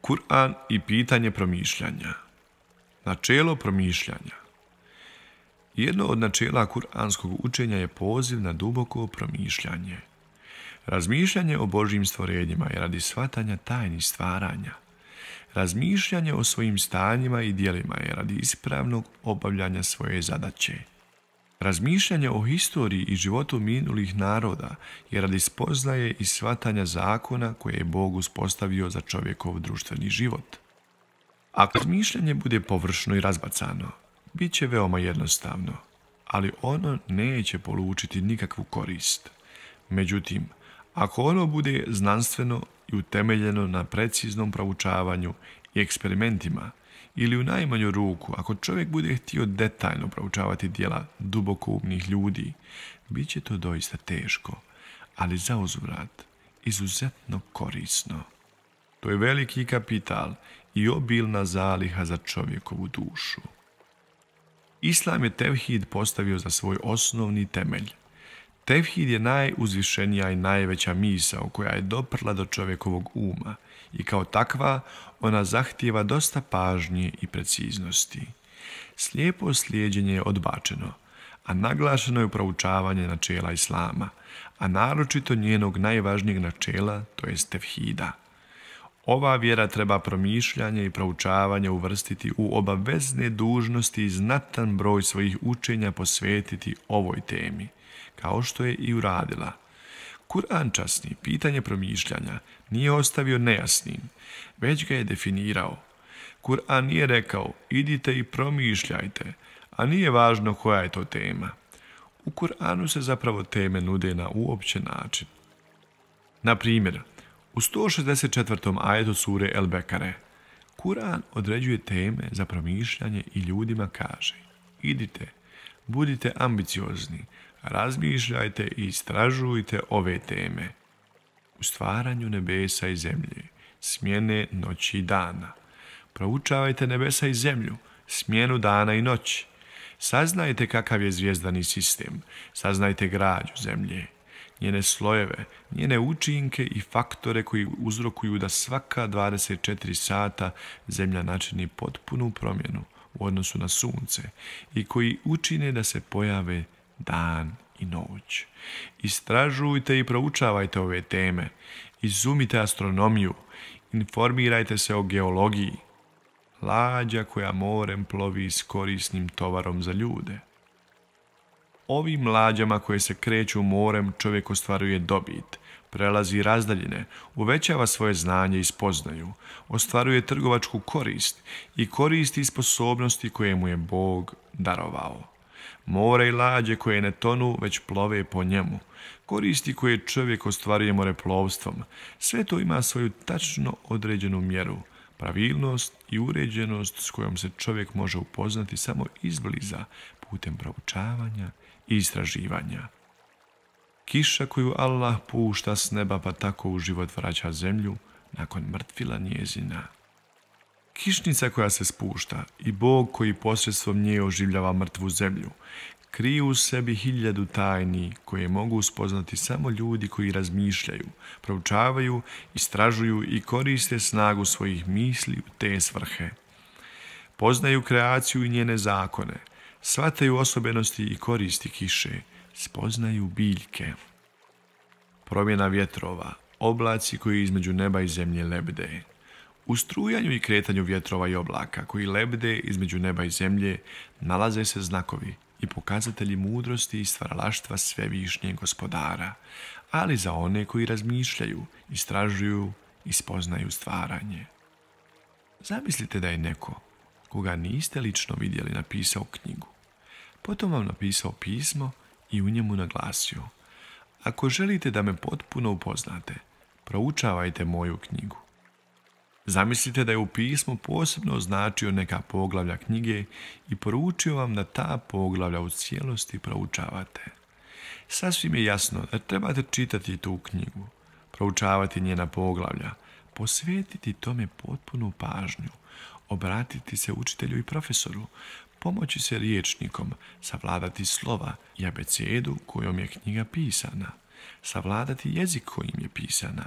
Kur'an i pitanje promišljanja. Načelo promišljanja. Jedno od načela kuranskog učenja je poziv na duboko promišljanje. Razmišljanje o Božjim stvorenjima je radi shvatanja tajnih stvaranja. Razmišljanje o svojim stanjima i djelima je radi ispravnog obavljanja svoje zadaće. Razmišljanje o historiji i životu minulih naroda je radi spoznaje i shvatanja zakona koje je Bog uspostavio za čovjekov društveni život. Ako razmišljanje bude površno i razbacano, bit će veoma jednostavno, ali ono neće polučiti nikakvu korist. Međutim, ako ono bude znanstveno i utemeljeno na preciznom proučavanju i eksperimentima, ili u najmanju ruku, ako čovjek bude htio detaljno proučavati djela dubokoumnih ljudi, bit će to doista teško, ali zauzvrat izuzetno korisno. To je veliki kapital i obilna zaliha za čovjekovu dušu. Islam je tevhid postavio za svoj osnovni temelj. Tevhid je najuzvišenija i najveća misao koja je doprla do čovjekovog uma i kao takva ona zahtijeva dosta pažnje i preciznosti. Slijepo slijeđenje je odbačeno, a naglašeno je proučavanje načela Islama, a naročito njenog najvažnijeg načela, to jest tevhida. Ova vjera treba promišljanje i proučavanje uvrstiti u obavezne dužnosti i znatan broj svojih učenja posvetiti ovoj temi, kao što je i uradila. Kur'an časni pitanje promišljanja nije ostavio nejasnim, već ga je definirao. Kur'an nije rekao idite i promišljajte, a nije važno koja je to tema. U Kur'anu se zapravo teme nude na uopćen način. Na primjer, u 164. ajetu sure El Bekare, Kur'an određuje teme za promišljanje i ljudima kaže: idite, budite ambiciozni, razmišljajte i istražujte ove teme. U stvaranju nebesa i zemlje, smjene noći i dana. Proučavajte nebesa i zemlju, smjenu dana i noći. Saznajte kakav je zvijezdani sistem, saznajte građu zemlje, njene slojeve, njene učinke i faktore koji uzrokuju da svaka 24 sata zemlja načini potpunu promjenu u odnosu na sunce i koji učine da se pojave dan i noć. Istražujte i proučavajte ove teme, izumite astronomiju, informirajte se o geologiji. Lađa koja morem plovi s korisnim tovarom za ljude. Ovim lađama koje se kreću morem čovjek ostvaruje dobit, prelazi razdaljine, uvećava svoje znanje i spoznaju, ostvaruje trgovačku korist i koristi sposobnosti koje mu je Bog darovao. More i lađe koje ne tonu, već plove po njemu, koristi koje čovjek ostvaruje moreplovstvom, sve to ima svoju tačno određenu mjeru, pravilnost i uređenost s kojom se čovjek može upoznati samo izbliza putem proučavanja i istraživanja. Kiša koju Allah pušta s neba pa tako u život vraća zemlju nakon mrtvila njezina. Kišnica koja se spušta i Bog koji posredstvom nje oživljava mrtvu zemlju kriju u sebi 1000 tajni koje mogu spoznati samo ljudi koji razmišljaju, proučavaju, istražuju i koriste snagu svojih misli u te svrhe. Poznaju kreaciju i njene zakone, shvataju osobenosti i koristi kiše, spoznaju biljke. Promjena vjetrova, oblaci koji između neba i zemlje lebde. U strujanju i kretanju vjetrova i oblaka koji lebde između neba i zemlje nalaze se znakovi i pokazatelji mudrosti i stvaralaštva svevišnjeg Gospodara, ali za one koji razmišljaju, istražuju i spoznaju stvaranje. Zamislite da je neko, koga niste lično vidjeli, napisao knjigu. Potom vam napisao pismo i u njemu naglasio: ako želite da me potpuno upoznate, proučavajte moju knjigu. Zamislite da je u pismu posebno označio neka poglavlja knjige i poručio vam da ta poglavlja u cijelosti proučavate. Sasvim je jasno da trebate čitati tu knjigu, proučavati njena poglavlja, posvetiti tome potpunu pažnju, obratiti se učitelju i profesoru, pomoći se riječnikom, savladati slova i abecedu kojom je knjiga pisana, savladati jezik kojim je pisana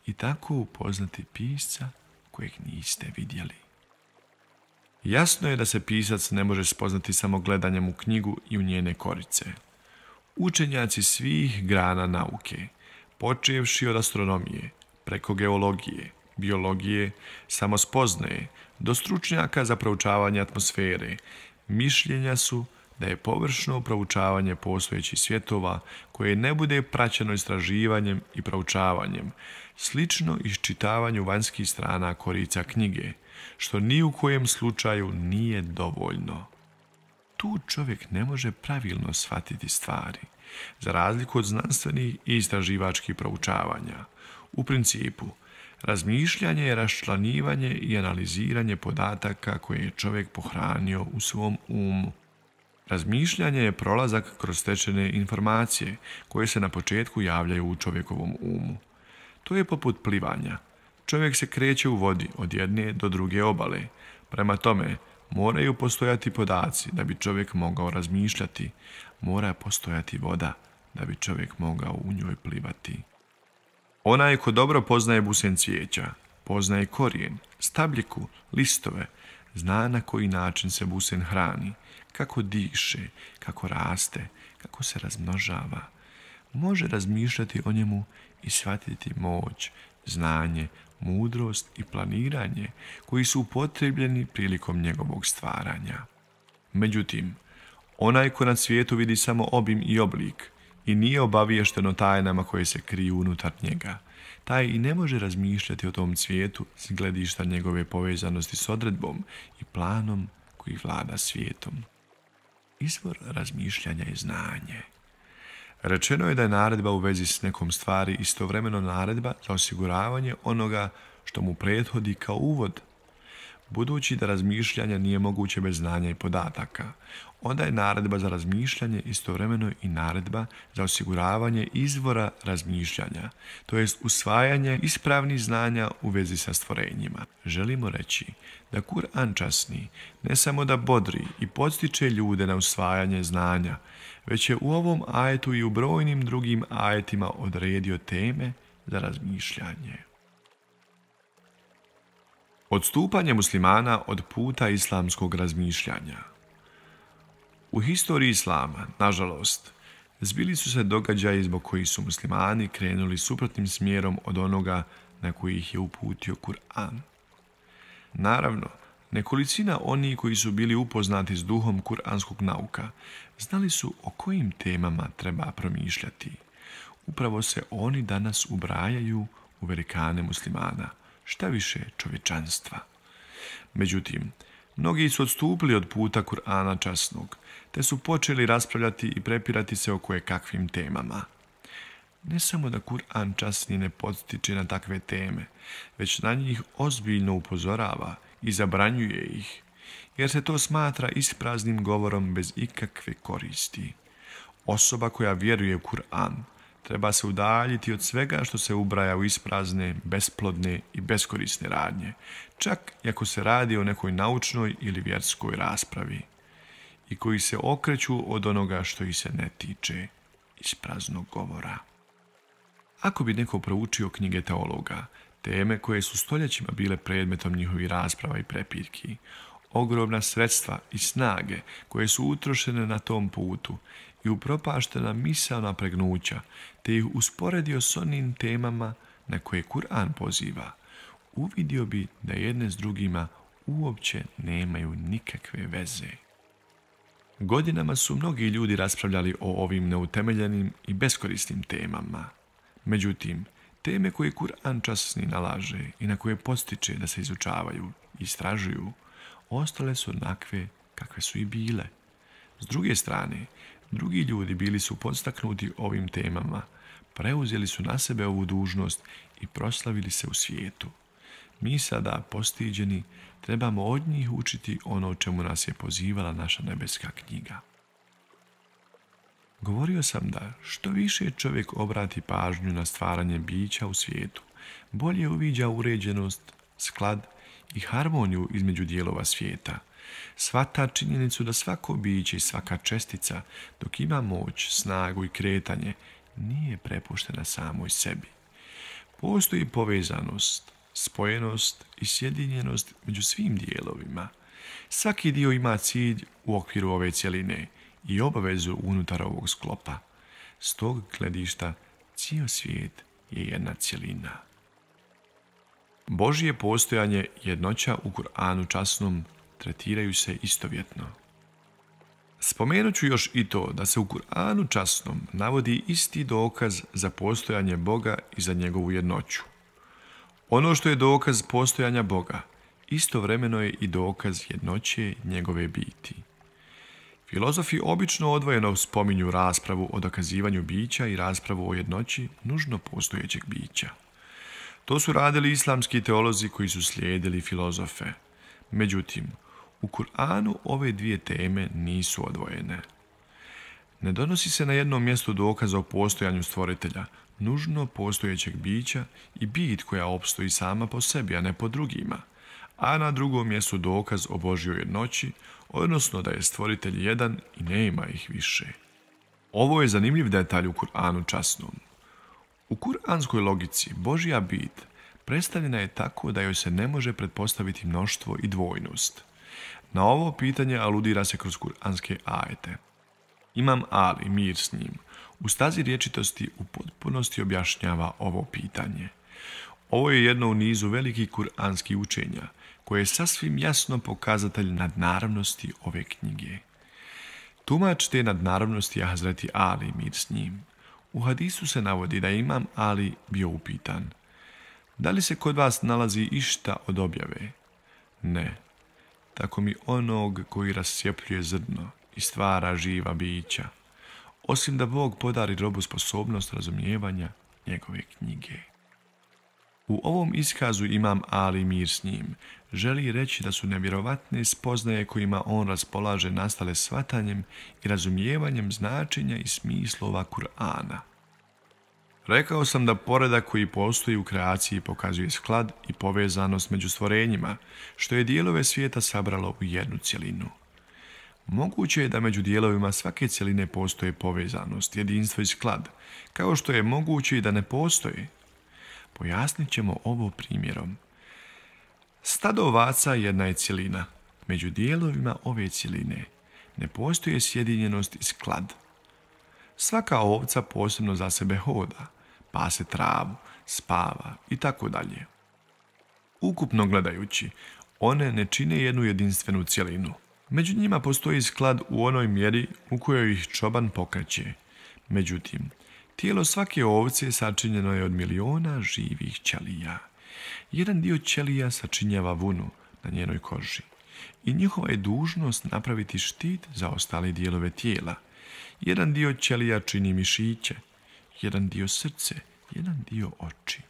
i tako upoznati pisca kojeg niste vidjeli. Jasno je da se pisac ne može spoznati samo gledanjem u knjigu i u njene korice. Učenjaci svih grana nauke, počevši od astronomije, preko geologije, biologije, samospoznaje, do stručnjaka za proučavanje atmosfere, mišljenja su da je površno proučavanje postojećih svjetova koje ne bude praćeno istraživanjem i proučavanjem, slično iščitavanju vanjskih strana korica knjige, što ni u kojem slučaju nije dovoljno. Tu čovjek ne može pravilno shvatiti stvari, za razliku od znanstvenih i istraživačkih proučavanja. U principu, razmišljanje je raščlanjivanje i analiziranje podataka koje je čovjek pohranio u svom umu. Razmišljanje je prolazak kroz stečene informacije koje se na početku javljaju u čovjekovom umu. To je poput plivanja. Čovjek se kreće u vodi od jedne do druge obale. Prema tome, moraju postojati podaci da bi čovjek mogao razmišljati. Mora postojati voda da bi čovjek mogao u njoj plivati. Onaj ko dobro poznaje busen cvijeća, poznaje korijen, stabljiku, listove, zna na koji način se busen hrani, kako diše, kako raste, kako se razmnožava. Može razmišljati o njemu i shvatiti moć, znanje, mudrost i planiranje koji su upotrebljeni prilikom njegovog stvaranja. Međutim, onaj ko na svijetu vidi samo obim i oblik i nije obaviješten o tajnama koje se kriju unutar njega, taj i ne može razmišljati o tom svijetu s gledišta njegove povezanosti s odredbom i planom koji vlada svijetom. Izvor razmišljanja je znanje. Rečeno je da je naredba u vezi s nekom stvari istovremeno naredba za osiguravanje onoga što mu prethodi kao uvod. Budući da razmišljanje nije moguće bez znanja i podataka, onda je naredba za razmišljanje istovremeno i naredba za osiguravanje izvora razmišljanja, to jest usvajanje ispravnih znanja u vezi sa stvorenjima. Želimo reći da Kur'an časni ne samo da bodri i podstiče ljude na usvajanje znanja, već je u ovom ajetu i u brojnim drugim ajetima odredio teme za razmišljanje. Odstupanje muslimana od puta islamskog razmišljanja. U historiji islama, nažalost, zbili su se događaji zbog kojih su muslimani krenuli suprotnim smjerom od onoga na koji ih je uputio Kur'an. Naravno, nekolicina onih koji su bili upoznati s duhom kuranskog nauka znali su o kojim temama treba promišljati. Upravo se oni danas ubrajaju u velikane muslimana, šta više čovječanstva. Međutim, mnogi su odstupili od puta Kur'ana časnog, te su počeli raspravljati i prepirati se o kojekakvim temama. Ne samo da Kur'an časni ne podstiče na takve teme, već na njih ozbiljno upozorava i zabranjuje ih, jer se to smatra ispraznim govorom bez ikakve koristi. Osoba koja vjeruje u Kur'an treba se udaljiti od svega što se ubraja u isprazne, besplodne i beskorisne radnje, čak i ako se radi o nekoj naučnoj ili vjerskoj raspravi, i koji se okreću od onoga što ih se ne tiče, ispraznog govora. Ako bi neko proučio knjige teologa, teme koje su stoljećima bile predmetom njihovih rasprava i prepirki, ogromna sredstva i snage koje su utrošene na tom putu i upropaštena misaona pregnuća, te ih usporedio s onim temama na koje Kur'an poziva, uvidio bi da jedne s drugima uopće nemaju nikakve veze. Godinama su mnogi ljudi raspravljali o ovim neutemeljenim i beskorisnim temama. Međutim, teme koje Kur'an časni nalaže i na koje postiče da se izučavaju i istražuju, ostale su onakve kakve su i bile. S druge strane, drugi ljudi bili su podstaknuti ovim temama, preuzeli su na sebe ovu dužnost i proslavili se u svijetu. Mi sada, postiđeni, trebamo od njih učiti ono o čemu nas je pozivala naša nebeska knjiga. Govorio sam da što više čovjek obrati pažnju na stvaranje bića u svijetu, bolje uviđa uređenost, sklad i harmoniju između dijelova svijeta. Shvata činjenicu da svako biće i svaka čestica, dok ima moć, snagu i kretanje, nije prepuštena samoj sebi. Postoji povezanost spojenost i sjedinjenost među svim dijelovima. Svaki dio ima cilj u okviru ove cjeline i obavezu unutar ovog sklopa. S tog gledišta cijel svijet je jedna cjelina. Božje postojanje i jednoća u Kur'anu časnom tretiraju se istovjetno. Spomenut ću još i to da se u Kur'anu časnom navodi isti dokaz za postojanje Boga i za njegovu jednoću. Ono što je dokaz postojanja Boga, istovremeno je i dokaz jednoće njegove biti. Filozofi obično odvojeno spominju raspravu o dokazivanju bića i raspravu o jednoći nužno postojećeg bića. To su radili islamski teolozi koji su slijedili filozofe. Međutim, u Kur'anu ove dvije teme nisu odvojene. Ne donosi se na jednom mjestu dokaz o postojanju stvoritelja, nužno postojećeg bića i bit koja opstoji sama po sebi, a ne po drugima, a na drugom mjestu dokaz o Božjoj jednoći, odnosno da je stvoritelj jedan i nema ih više. Ovo je zanimljiv detalj u Kur'anu časnom. U kuranskoj logici Božja bit predstavljena je tako da joj se ne može pretpostaviti mnoštvo i dvojnost. Na ovo pitanje aludira se kroz kuranske ajete. Imam Ali, mir s njim, u stazi rječitosti u potpunosti objašnjava ovo pitanje. Ovo je jedno u nizu velikih kuranskih učenja, koje je sasvim jasno pokazatelj nadnaravnosti ove knjige. Tumač te nadnaravnosti je Hazreti Ali, mir s njim. U hadisu se navodi da je Imam Ali bio upitan: da li se kod vas nalazi išta od objave? Ne. Tako mi onog koji rascijepljuje zrno i stvara živa bića, osim da Bog podari robu sposobnost razumijevanja njegove knjige. U ovom iskazu Imam Ali, mir s njim, želi reći da su nevjerovatne spoznaje kojima on raspolaže nastale shvatanjem i razumijevanjem značenja i smislova Kur'ana. Rekao sam da poredak koji postoji u kreaciji pokazuje sklad i povezanost među stvorenjima, što je dijelove svijeta sabralo u jednu cjelinu. Moguće je da među dijelovima svake cjeline postoje povezanost, jedinstvo i sklad, kao što je moguće i da ne postoje. Pojasnit ćemo ovo primjerom. Stado ovaca jedna je cjelina. Među dijelovima ove cjeline ne postoje sjedinjenost i sklad. Svaka ovca posebno za sebe hoda, pase travu, spava i tako dalje. Ukupno gledajući, one ne čine jednu jedinstvenu cjelinu. Među njima postoji sklad u onoj mjeri u kojoj ih čoban pokreće. Međutim, tijelo svake ovce sačinjeno je od miliona živih ćelija. Jedan dio ćelija sačinjava vunu na njenoj koži i njihova je dužnost napraviti štit za ostale dijelove tijela. Jedan dio ćelija čini mišiće, jedan dio srce, jedan dio oči.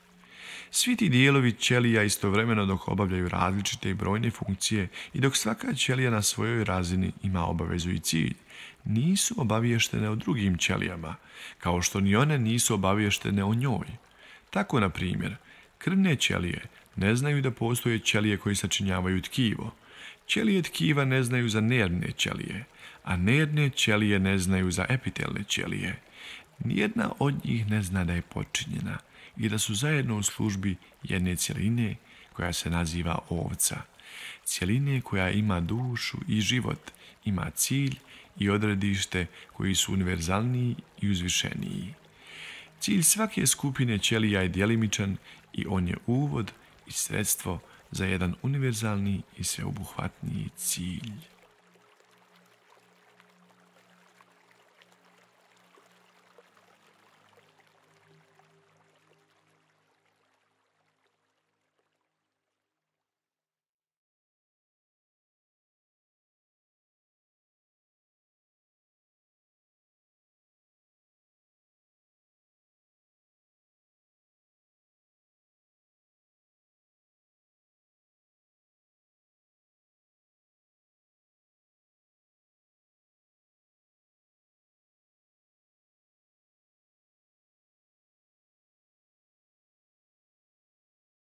Svi ti dijelovi ćelija istovremeno dok obavljaju različite i brojne funkcije i dok svaka ćelija na svojoj razini ima obavezu i cilj, nisu obavještene o drugim ćelijama, kao što ni one nisu obavještene o njoj. Tako, na primjer, krvne ćelije ne znaju da postoje ćelije koji sačinjavaju tkivo. Ćelije tkiva ne znaju za nervne ćelije, a nervne ćelije ne znaju za epitelne ćelije. Nijedna od njih ne zna da je počinjena i da su zajedno u službi jedne cjeline koja se naziva ovca. Cjeline koja ima dušu i život, ima cilj i odredište koji su univerzalniji i uzvišeniji. Cilj svake skupine ćelija je djelimičan i on je uvod i sredstvo za jedan univerzalni i sveobuhvatniji cilj.